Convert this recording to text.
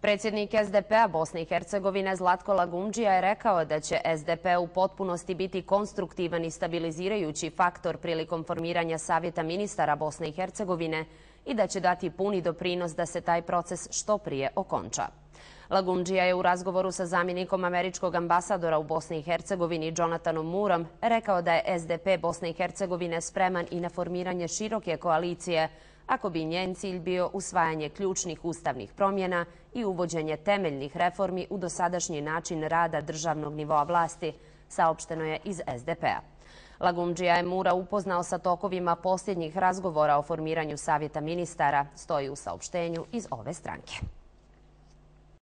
Predsjednik SDP-a Bosne i Hercegovine Zlatko Lagumdžija je rekao da će SDP u potpunosti biti konstruktivan i stabilizirajući faktor prilikom formiranja Savjeta ministara Bosne i Hercegovine i da će dati puni doprinos da se taj proces što prije okonča. Lagumdžija je u razgovoru sa zamjenikom američkog ambasadora u Bosni i Hercegovini Jonathanom Moorom rekao da je SDP Bosne i Hercegovine spreman i na formiranje široke koalicije ako bi njen cilj bio usvajanje ključnih ustavnih promjena i uvođenje temeljnih reformi u dosadašnji način rada državnog nivoa vlasti, saopšteno je iz SDP-a. Lagumdžija je Moora upoznao sa tokovima posljednjih razgovora o formiranju Savjeta ministara, stoji u saopštenju iz ove stranke.